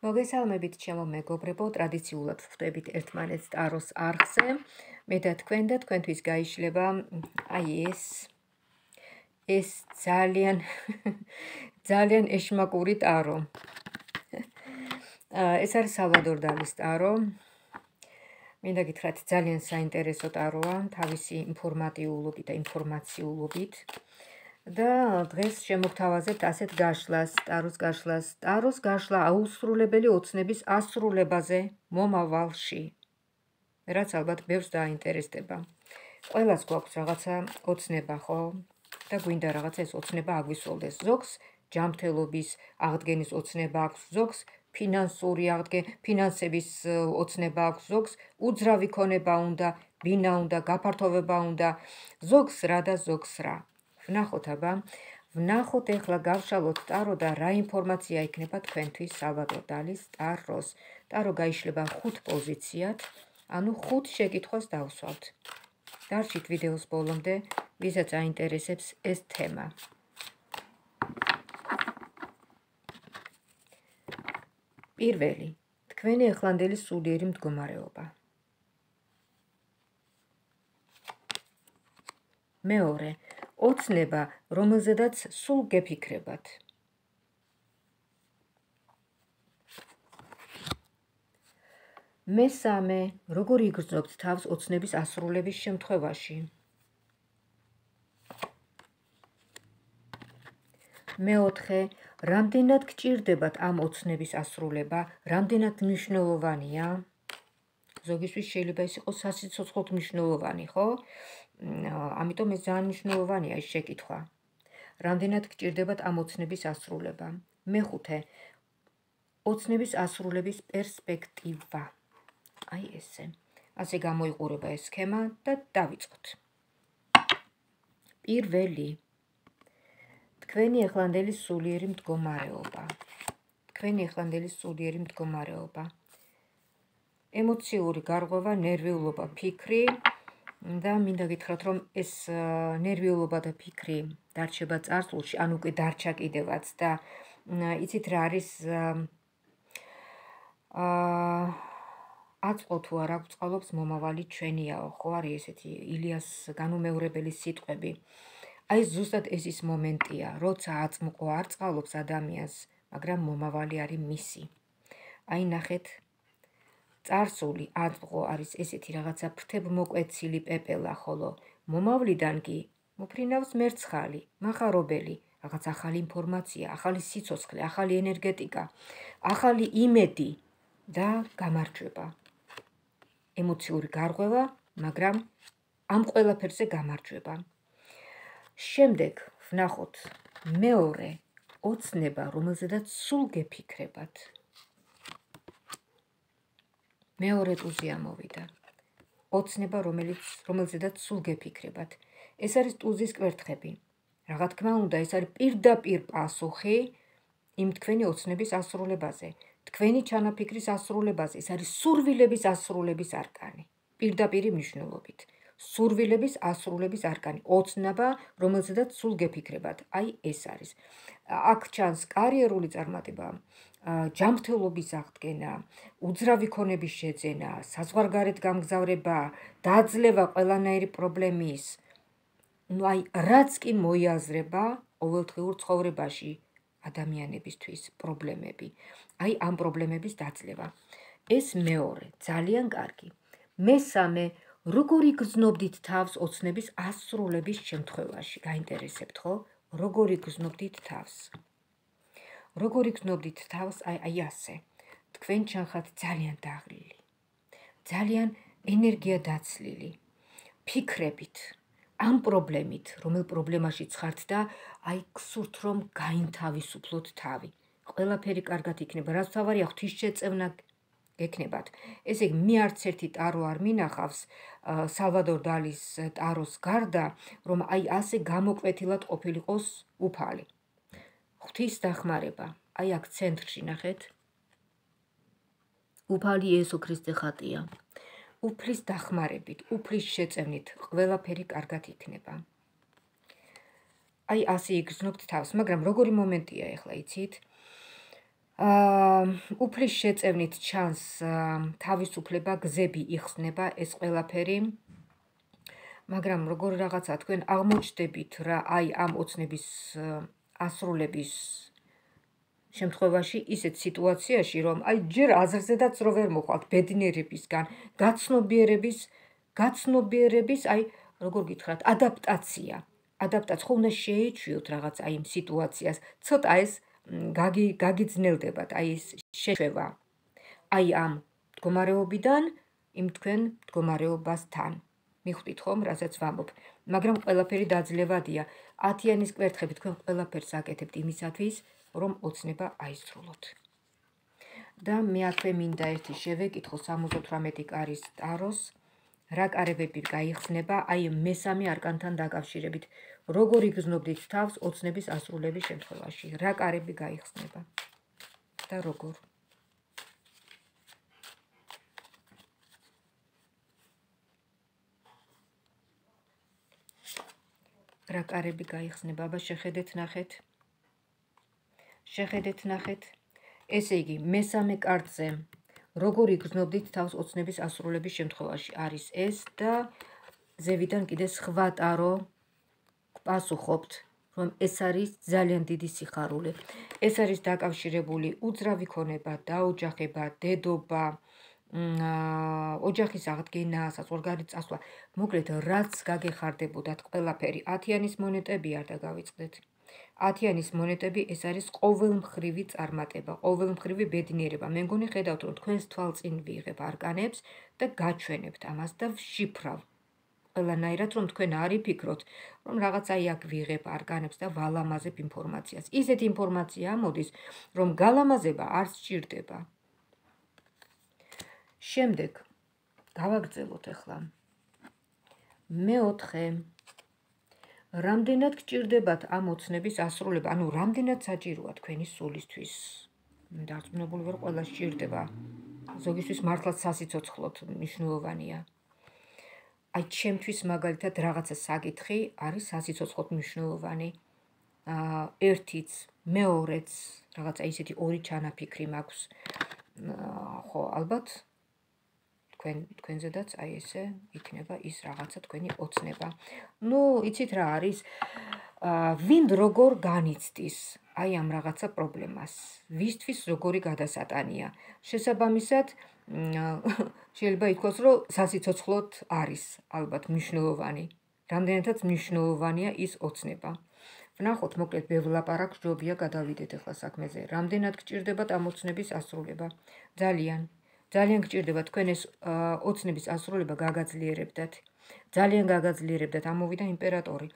მოგესალმებით ჩემო მეგობრებო, ტრადიციულად ვხვდებით ერთმანეთს ტაროს არხზე. მე და თქვენთვის გაიშლება ეს ძალიან ეშმაკური ტარო. ეს არის სალვადორ დალის ტარო. მინდა გითხრათ, ძალიან საინტერესო ტაროა, თავისი ინფორმატიულობით და ინფორმაციულობით. და დღეს შემოგთავაზებთ ასეთ გაშლას, ტაროს გაშლა აუსრულებელი ოცნების ასრულებაზე მომავალში, რაც ალბათ ბევრს დაინტერესდება. ყველას გვაქვს რაღაცა ოცნება, ხო? და გვინდა რაღაცა ეს ოცნება აგვისოლდეს. ზოგს ჯანმრთელობის აღდგენის ოცნება აქვს, ზოგს ფინანსების ოცნება აქვს, ზოგს უძრავი ქონება უნდა, ბინა უნდა, გაფართოვება უნდა, ზოგს რა და ზოგს რა. ვნახოთ ეხლა გავშალოთ ტარო და რა ინფორმაცია იქნება თქვენთვის სალვადორ დალის ტაროს. ტარო გაიშლება 5 პოზიციად, ანუ 5 შეკითხვას დავსვავთ. დარჩით ვიდეოს ბოლომდე, ვისაც აინტერესებს ეს თემა. პირველი, თქვენი ახლანდელი სულიერი მდგომარეობა. მეორე, ოცნება, რომელზედაც სულ გეფიქრებათ. მესამე, როგორ იგრძნობთ თავს ოცნების ასრულების შემთხვევაში. მეოთხე, რამდენად გჭირდებათ ამ ოცნების ასრულება, რამდენად მნიშვნელოვანია? ზოგისთვის შეიძლება ის იყოს სასიცოცხლოდ მნიშვნელოვანი, ხო? ამიტომ ეს ძალიან მნიშვნელოვანია ეს შეკითხვა. რამდენად გჭირდებათ ამ ოცნების ასრულება? მეხუთე, ოცნების ასრულების პერსპექტივა. ესე. ასე გამოიყურება ეს სქემა და დავიწყოთ. პირველი, თქვენი ახლანდელი სულიერი მდგომარეობა. ემოციური გარღვევა, ნერვიულობა, ფიქრი და მინდა გითხრათ, რომ ეს ნერვიულობა და ფიქრი დარჩება წარსულში, ან უკვე დარჩა კიდევაც და იცით რა არის აწყო თუ არა გვწყალობს მომავალი ჩვენიაო, ხო არის ესეთი ილიას განუმეორებელი სიტყვები. აი ზუსტად ეს ის მომენტია, როცა აწმყო არ წყალობს ადამიანს, მაგრამ მომავალი არის მისი. აი ნახეთ, წარსული აწმყო არის ესეთი რაღაცა ფრთებმოკვეცილი პეპელა, ხოლო მომავლიდან კი მოფრინავს მერცხალი, მახარობელი, რაღაც ახალი ინფორმაცია, ახალი სიცოცხლე, ახალი ენერგეტიკა, ახალი იმედი და გამარჯვება. ემოციური გარღვევა, მაგრამ ამ ყველაფერზე გამარჯვება. შემდეგ ვნახოთ მეორე, ოცნება, რომელზედაც სულ გეფიქრებათ. მეორე ტუზი ამოვიდა. ოცნება, რომელზედაც სულ გეფიქრებათ. ეს არის ტუზის კვერთხები. რა თქმა უნდა, ეს არის პირდაპირ პასუხი იმ თქვენი ოცნების ასრულებაზე. თქვენი ჩანაფიქრის ასრულებაზე. ეს არის სურვილების ასრულების არკანი. პირდაპირი მნიშვნელობით. სურვილების ასრულების არკანი. ოცნება, რომელზედაც სულ გეფიქრებათ. აი ეს არის. აქ ჩანს კარიერული წარმატება, ჯანმრთელობის აღდგენა, უძრავი ქონების შეძენა, საზღვარგარეთ გამგზავრება, დაძლევა ყველანაირი პრობლემის. აი რაც კი მოიაზრება ყოველდღიურ ცხოვრებაში ადამიანებისთვის პრობლემები. აი ამ პრობლემების დაძლევა. ეს მეორე, ძალიან კარგი. მესამე, როგორ იგრძნობდით თავს ოცნების ასრულების შემთხვევაში? გაინტერესებთ, ხო? როგორ იგრძნობდით თავს? როგორ იგრძნობდით თავს? აი ასე. თქვენ ჩანხართ ძალიან დაღლილი, ძალიან ენერგია დაცლილი, ფიქრებით, ამ პრობლემით, რომელ პრობლემაშიც ხართ და აი გსურთ, რომ გაინთავისუფლოთ თავი. ყველაფერი კარგად იქნება, რაც თავარია ღვთისშეწევნა გექნებათ. ესე იგი, მე არც ერთი ტარო არ მინახავს სალვადორ დალის ტაროს გარდა, რომ აი ასე გამოკვეთილად ყოფილიყოს უფალი. ღვთის დახმარება. აი აქ ცენტრში ნახეთ. უფალი იესო ქრისტე ხატია. უფლის დახმარებით, უფლის შეწევნით ყველაფერი კარგად იქნება. აი ასე იგრძნობთ თავს, მაგრამ როგორი მომენტია ახლა იცით? უფლის შეწევნით ჩანს თავისუფლება, გზები იხსნება, ეს ყველაფერი, მაგრამ როგორ რაღაცა თქვენ აღმოჩნდებით რა აი ამ ოცნების ასრულების შემთხვევაში ისეთ სიტუაციაში, რომ აი ჯერ აზრზედაც რო ვერ მოხვალთ ბედნიერებისგან, გაცნობიერების, აი როგორ გითხრათ, ადაპტაცია ხო უნდა შეეჩვიოთ რაღაც აი იმ სიტუაციას, ცოტა ეს გაგიძნელდებათ, აი ეს შეჩვევა აი ამ მდგომარეობიდან იმ თქვენ მდგომარეობასთან. მიხვდით ხომ, რასაც ვამბობ, მაგრამ ყველაფერი დაძლევადია. 10-იანის კვერთხები თქვენ ყველაფერს აკეთებთ იმისათვის, რომ ოცნება აისრულოთ. და მე აქვე მინდა ერთი შევეკითხო 78 კარის ტაროს, რა კარებები გაიხსნება აი მესამე არკანთან დაკავშირებით. როგორ იგრძნობდით თავს ოცნების ასრულების შემთხვევაში? რა კარები გაიხსნება და როგორ? რა კარები გაიხსნება? აბა შეხედეთ ნახეთ. ესე იგი, მესამე კარტზე როგორ იგრძნობდით თავს ოცნების ასრულების შემთხვევაში არის ეს და ზევიდან კიდე სხვა ტარო გპასუხობთ, რომ ეს არის ძალიან დიდი სიხარული. ეს არის დაკავშირებული უძრავი ქონება, დაოჯახება, დედობა, ოჯახის აღდგენა, საზღვარგარეთ წასვლა. მოკლედ, რაც გაგეხარდებოდათ ყველაფერი. 10-იანის მონეტები არ დაგავიწყდეთ. 10-იანის მონეტები ეს არის ყოველმხრივი წარმატება, ყოველმხრივი ბედნიერება. მე მგონი ხედავთ, რომ თქვენს თვალწინ ვიღებ არკანებს და გაჩვენებთ ამას და ვშიფრავ. ყველანაირად, რომ თქვენ არ იფიქროთ, რომ რაღაც აი აქ ვიღებ არკანებს და ვალამაზებ ინფორმაციას. ისეთი ინფორმაცია ამოდის, რომ გალამაზება არ სჭირდება. შემდეგ გავაგრძელოთ ახლა. მეოთხე, რამდენად გჭირდებათ ამ ოცნების ასრულება, ანუ რამდენად საჭიროა თქვენი სულისთვის. დარწმუნებული ვარ, ყველა სჭირდება. ზოგისთვის მართლაც სასიცოცხლოდ მნიშვნელოვანია. აი ჩემთვის მაგალითად რაღაცა საკითხი არის სასიცოცხლოდ მნიშვნელოვანი. ერთიც, მეორეც, რაღაცა ისეთი ორი ჩანაფიქრი მაქვს. ხო, ალბათ თქვენზედაც აი ესე იქნება ის რაღაცა თქვენი ოცნება. ნუ, იცით რა არის? ვინ როგორ განიცდის აი ამ რაღაცა პრობლემას? ვისთვის როგორი გადასატანია? შესაბამისად, შეიძლება ითქვას, რომ სასიცოცხლოდ არის ალბათ მნიშვნელოვანი. რამდენადაც მნიშვნელოვანია ის ოცნება. ვნახოთ, მოკლედ ბევრ ლაპარაკს ჯობია გადავიდეთ ახლა საქმეზე. რამდენად გჭირდებათ ამ ოცნების ასრულება? ძალიან გჭირდება თქვენ ეს ოცნების ასრულება გაგაძლიერებდათ. ძალიან გაგაძლიერებდათ. ამოვიდა იმპერატორი.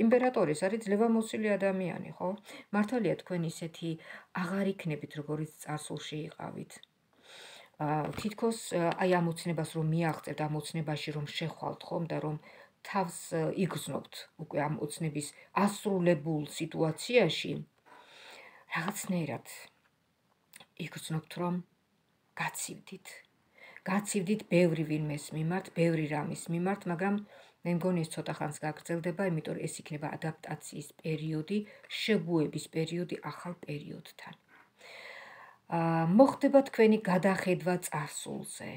იმპერატორი ეს არის ძლევამოსილი ადამიანი, ხო? მართალია თქვენ ისეთი აღარ იქნებით, როგორც წარსულში იყავით. თითქოს აი ამ ოცნებას რომ მიაღწევთ, ამ ოცნებაში რომ შეხვალთ ხომ და რომ თავს იგრძნობთ უკვე ამ ოცნების ასრულებულ სიტუაციაში, რაღაცნაირად იგრძნობთ, რომ გაცივდით ბევრი ვინმეს მიმართ, ბევრი რამის მიმართ, მაგრამ მე მგონი ეს ცოტა ხანს გაგრძელდება, იმიტომ რომ ეს იქნება ადაპტაციის პერიოდი, შეგუების პერიოდი ახალ პერიოდთან. მოხდება თქვენი გადახედვა წარსულზე.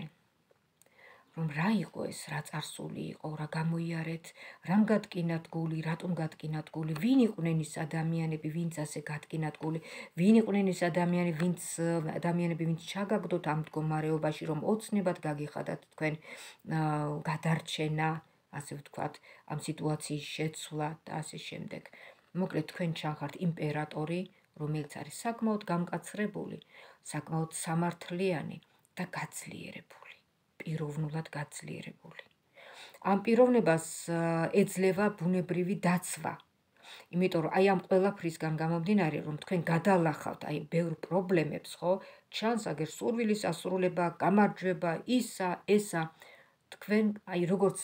რომ რა იყო ეს, რა წარსული იყო, რა გამოიარეთ, რამ გადკინათ გული, რატომ გადკინათ გული, ვინ იყვნენ ის ადამიანები, ვინც ასე გადკინათ გული, ვინ იყვნენ ის ადამიანები, ვინც ჩაგაგდოთ ამ მდგომარეობაში, რომ ოცნებად გაგიხადათ თქვენ გადარჩენა, ასე ვთქვათ, ამ სიტუაციის შეცვლა და ასე შემდეგ. მოკლედ თქვენ ჩახართ იმპერატორი, რომელიც არის საკმაოდ გამკაცრებული, საკმაოდ სამართლიანი და გაძლიერებული. პიროვნულად გაძლიერებული. ამ პიროვნებას ეძლევა ბუნებრივი დაცვა. იმიტომ რომ აი ამ ყველაფრისგან გამომდინარე, რომ თქვენ გადალახავთ აი ბევრ პრობლემებს, ხო? ჩანს აგერ სურვილის ასრულება, გამარჯვება, ისა, ესა. თქვენ აი როგორც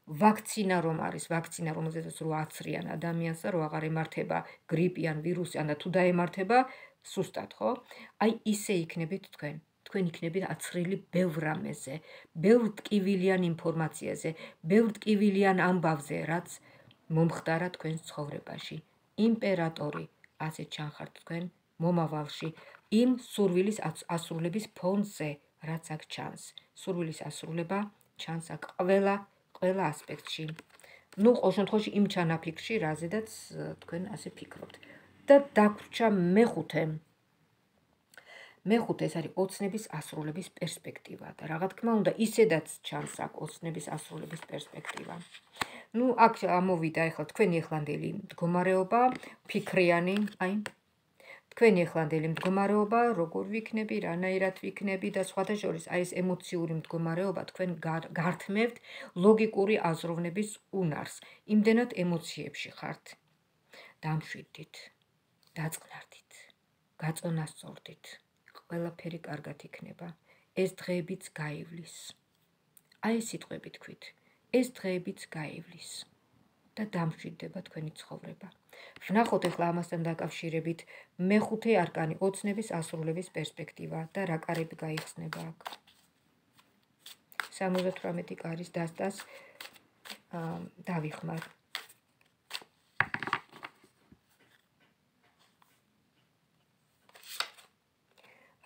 ვაქცინა რომ არის, ვაქცინა რომელზეც რო აცრიან ადამიანს და რო აღარ ემართება გრიპი ან ვირუსი, ან თუ დაემართება სუსტად, ხო? აი ისე იქნებით თქვენ. თქვენ იქნებით აცრილი ბევრ რამეზე, ბევრ ტკივილიან ინფორმაციაზე, ბევრ ტკივილიან ამბავზე, რაც მომხდარა თქვენს ცხოვრებაში. იმპერატორი, ასე ჩანხართ თქვენ მომავალში, იმ სურვილის ასრულების ფონზე, რაც აქ ჩანს. სურვილის ასრულება ჩანს აქ ყველა ასპექტში. ნუ ყოველ შემთხვევაში იმ ჩანაფიქრში, რაზედაც თქვენ ასე ფიქრობთ. და დაგვრჩა მეხუთე. მეხუთე ეს არის ოცნების ასრულების პერსპექტივა და რა თქმა უნდა, ისედაც ჩანს აქ ოცნების ასრულების პერსპექტივა. ნუ აქ ამოვიდა ახლა თქვენი ეხლანდელი მდგომარეობა, ფიქრიანი, თქვენი ეხლანდელი მდგომარეობა, როგორ ვიქნები, რანაირად ვიქნები და სხვათა შორის აი ეს ემოციური მდგომარეობა თქვენ გართმევთ ლოგიკური აზროვნების უნარს. იმდენად ემოციებში ხართ. დამშვიდით, დაწყნარდით, გაწონასწორდით. ყველაფერი კარგად იქნება. ეს დღეებიც გაივლის. აი ეს სიტყვები თქვით. ეს დღეებიც გაივლის. და დამშვიდდება თქვენი ცხოვრება. ვნახოთ ახლა ამასთან დაკავშირებით მეხუთე არკანი ოცნების ასრულების პერსპექტივა და რა კარები გაიხსნება აქ. 78 კარის დასტას დავიხმარ.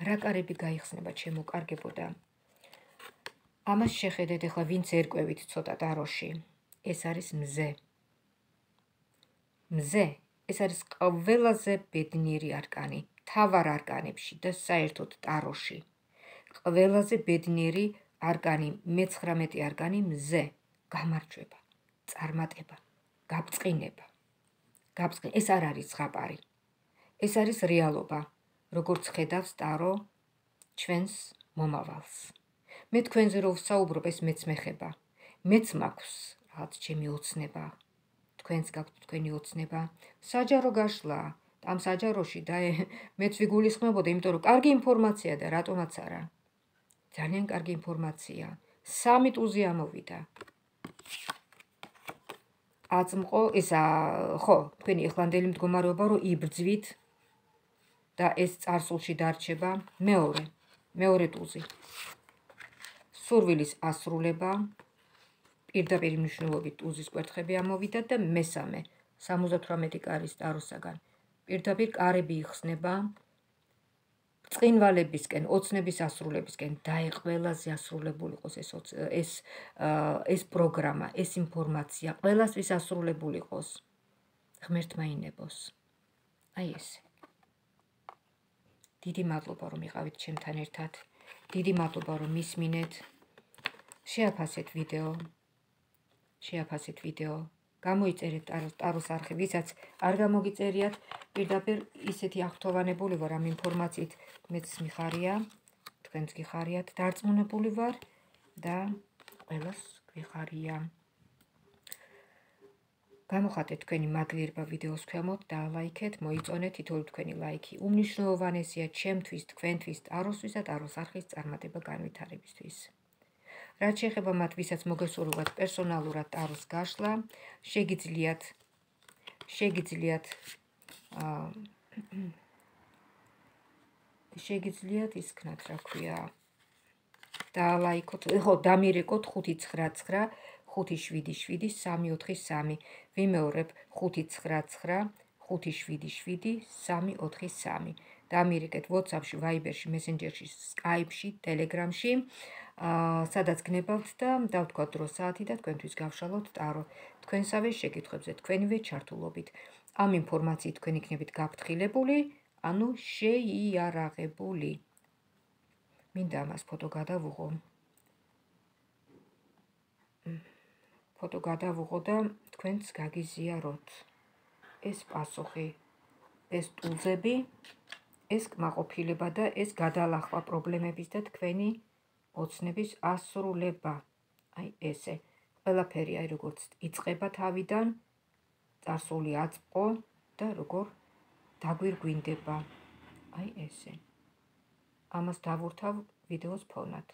რა კარები გაიხსნება ჩემო კარგებო და ამას შეხედეთ ახლა ვინც ერკვევით ცოტა ტაროში. ეს არის მზე. მზე ეს არის ყველაზე ბედნიერი არკანი, მთავარ არკანებში და საერთოდ ტაროში. ყველაზე ბედნიერი არკანი, მე-19 არკანი მზე, გამარჯვება, წარმატება, გაბწყინება. ეს არ არის ზღაპარი. ეს არის რეალობა, როგორც ხედავს ტარო ჩვენს მომავალს. მე თქვენზე რო ვსაუბრობ, ეს მეც მეხება. მეც მაქვს რაღაც ჩემი ოცნება. თქვენს გაქვთ თქვენი ოცნება. საჯარო გაშლა, ამ საჯაროში და მეც ვიგულისხმებოდა, იმიტომ რომ კარგი ინფორმაცია და რატომაც არა. ძალიან კარგი ინფორმაცია. 3 ტუზი ამოვიდა. აწმყო, ხო, თქვენი ეხლანდელი მდგომარეობა რომ იბრძვით და ეს წარსულში დარჩება. მეორე ტუზი. სურვილის ასრულება, პირდაპირ მნიშვნელობით ტუზის კვერთხები ამოვიდა და მესამე, 78 კარის ტაროსაგან. პირდაპირ კარები იხსნება ბრწყინვალებისკენ, ოცნების ასრულებისკენ და ყველაზე ასრულებული იყოს ეს პროგრამა, ეს ინფორმაცია, ყველასთვის ასრულებული იყოს. ღმერთმა ინებოს. აი ესე. დიდი მადლობა რომ იყავით ჩემთან ერთად. დიდი მადლობა რომ მისმინეთ. შეაფასეთ ვიდეო. გამოიწერეთ ტაროს არხი, ვისაც არ გამოგიწერიათ, პირდაპირ ისეთი აღთოვანებული ვარ ამ ინფორმაციით, მეც მიხარია, თქვენც გიხარიათ, დარწმუნებული ვარ და ყველას გვიხარია. გამოხატეთ თქვენი მაგლიერება ვიდეოს ქვემოთ და ლაიქეთ, მოიწონეთ, თითოეული თქვენი ლაიქი უმნიშვნელოვანესია ჩემთვის, თქვენთვის, ტაროსთვის და ტაროს არხის წარმატება განვითარებისთვის. რაც შეეხება მათ, ვისაც მოგესურვებათ პერსონალურად ტაროს გაშლა, შეგიძლიათ ისქნათ, რა ქვია, დაალაიქოთ, ხო, დამირეკოთ 599 577 343. ვიმეორებ 599 577 343. დამირეკეთ WhatsApp-ში, Viber-ში, Messenger-ში, Skype-ში, Telegram-ში, სადაც გნებავთ და დავთქვათ დრო საათი და თქვენთვის გავშალოთ ტარო. თქვენსავე შეკითხვებზე, თქვენივე ჩართულობით. ამ ინფორმაციით თქვენ იქნებით გაფრთხილებული, ანუ შეიარაღებული. მინდა ამას ფოტო გადავუღო და თქვენც გაგიზიაროთ. ეს პასუხი, ეს ტულზები, ეს კმაყოფილება და ეს გადალახვა პრობლემების და თქვენი ოცნების ასრულება. აი ესე. ყველაფერი აი როგორც იწყება თავიდან, წარსული აწმყო და როგორ დაგვირგვინდება. აი ესე. ამას დავურთავ ვიდეოს ფონად.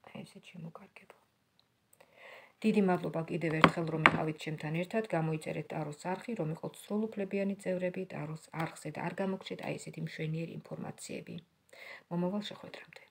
აი ესე შემოგარგებო. დიდი მადლობა კიდევ ერთხელ რომ იყავით ჩემთან ერთად, გამოიწერეთ ტაროს არხი, რომ იყოთ სრულუფლებიანი წევრები ტაროს არხზე და არ გამოგჩეთ აი ესეთი მშვენიერი ინფორმაციები. მომავალ შეხვედრამდე.